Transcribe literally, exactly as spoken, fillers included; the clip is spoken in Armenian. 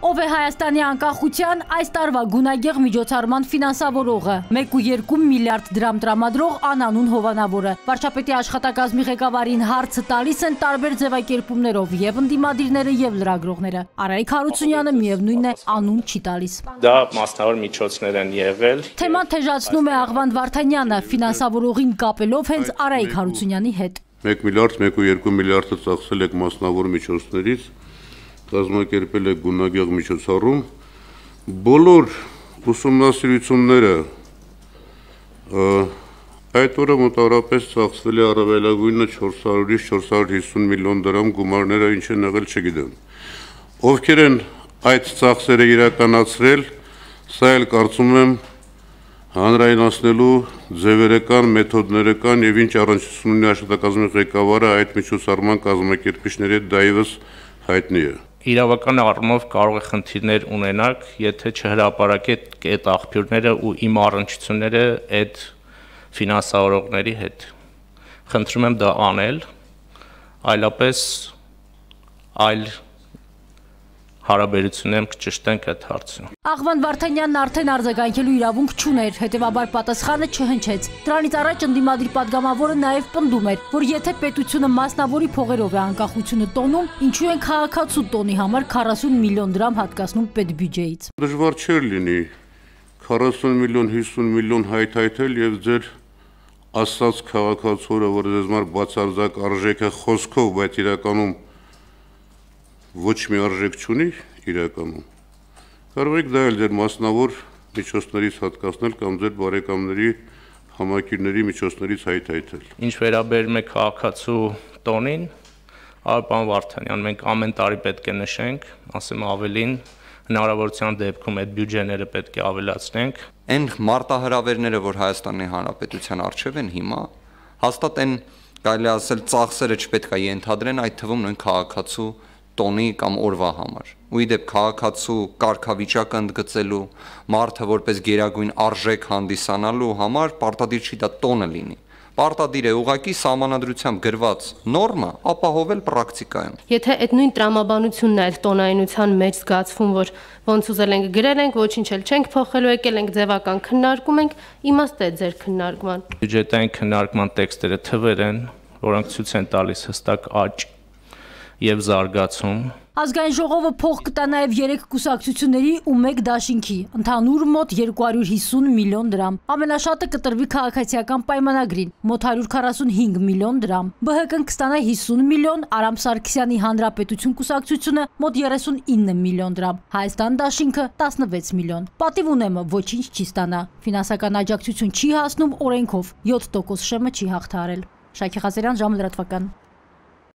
Ով է Հայաստանի անկախության այս տարվա գունագեղ միջոցառման ֆինանսավորողը, մեկ ու երկու միլիարդ դրամ տրամադրող անանուն Հովանավորը։ Վարչապետի աշխատակազմի ղեկավարին հարցը տալիս են տարբեր ձևակերպումներով եւ ընդդիմադիրները եւ լրագրողները։ Արայիկ Հարությունյանը միևնույնն է անուն չի տալիս։ Դա մասնավոր միջոցներ են եղել։ Թեման թեժացնում է Աղվանդ Վարդանյանը, ֆինանսավորողին կապելով հենց Արայիկ Հարությունյանի հետ։ մեկ միլիարդ, մեկ ու երկու միլիարդը ծախսել եք մասնավոր միջոցներից, կազմակերպել եք գունագեղ միջոցառում, բոլոր ուսումնասիրությունները այդ օրը մոտավորապես ծախսվել է առավելագույնը չորս հարյուրից չորս հարյուր հիսուն միլիոն դրամ գումարները ինչ են եղել չգիտեմ։ Ովքեր են այդ ծախսերը իրականացրել, սա էլ կարծում եմ հանրայնացնելու ձևերը կան, մեթոդները կան եւ ինչ առնչություն ունի աշխատակազմի ղեկավարը այդ միջոցառման կազմակերպիչների հետ դա ևս հայտնի է։ Իրավական առումով կարող է խնդիրներ ունենալ, եթե չհրապարակեք այդ աղբյուրները ու իմ առնչությունները այդ ֆինանսավորողների հետ։ Խնդրում եմ դա անել, այլապես այլ հարաբերություններում կճշտենք այդ հարցը։ Աղվանդ Վարդանյանն արդեն արձագանքելու իրավունք չուներ, հետևաբար պատասխանը չհնչեց։ Դրանից առաջ ընդդիմադիր падգամավորը նաև պնդում էր, որ եթե պետությունը մասնավորի փողերով է անկախությունը տոնում, ինչու են քաղաքացու տոնի համար քառասուն միլիոն դրամ հատկացնում պետբյուջեից։ Դժվար չէր լինի քառասուն միլիոն, հիսուն միլիոն հայթայթել եւ ձեր ասած քաղաքացորը, որ ձեզ մար բացարձակ արժեք է խոսքով, բայց իրականում ոչ մի արժեք չունի իրականում, կարող եք դա էլ ձեր մասնավոր միջոցներից հատկացնել կամ ձեր բարեկամների համակիրների միջոցներից հայթայթել։ Ինչ վերաբերում է քաղաքացու տոնին, պարոն Վարդանյան, մենք ամեն տարի պետք է նշենք, ասեմ ավելին, հնարավորության դեպքում այդ բյուջեները պետք է ավելացնենք։ Այն մարտահրավերները, որ Հայաստանի Հանրապետության առջև են հիմա, հաստատ այն կարելի ասել ծախսերը չպետք է ենթադրեն այդ թվում նույն քաղաքացու տոնի կամ օրվա համար։ Ու իդեպ քաղաքացու կարգավիճակը ընդգծելու, մարդը որպես գերագույն արժեք հանդիսանալու համար պարտադիր չի դա տոնը լինի։ Պարտադիր է ուղղակի սահմանադրությամբ գրված նորմա ապահովել պրակտիկայում։ Եթե այդ նույն տրամաբանությունն է այդ տոնայնության մեջ զգացվում, որ ոնց ուզել ենք գրել ենք, ոչինչ էլ չենք փոխելու, եկել ենք ձևական քննարկում ենք, իմաստ է ձեր քննարկման։ Բյուջետային քննարկման տեքստերը թվեր են, որոնք ցույց են տալիս հստակ աճ եւ զարգացում։ Ազգային ժողովը փող կտա նաև երեք կուսակցությունների ու մեկ դաշինքի, ընդհանուր մոտ երկու հարյուր հիսուն միլիոն դրամ։ Ամենաշատը կտրվի քաղաքացիական պայմանագրին, մոտ հարյուր քառասունհինգ միլիոն դրամ։ Բ Հ Կ-ն կստանա հիսուն միլիոն, Արամ Սարգսյանի Հանրապետություն կուսակցությունը մոտ երեսունինը միլիոն դրամ, Հայաստան դաշինքը տասնվեց միլիոն։ Պատիվ ունեմը ոչինչ չի ստանա։ Ֆինանսական աջակցություն չի հասնում օրենքով, յոթ տոկոս շեմը չի հաղթահարել։ Շայքի Ղազարյան, ժամը լրատվական։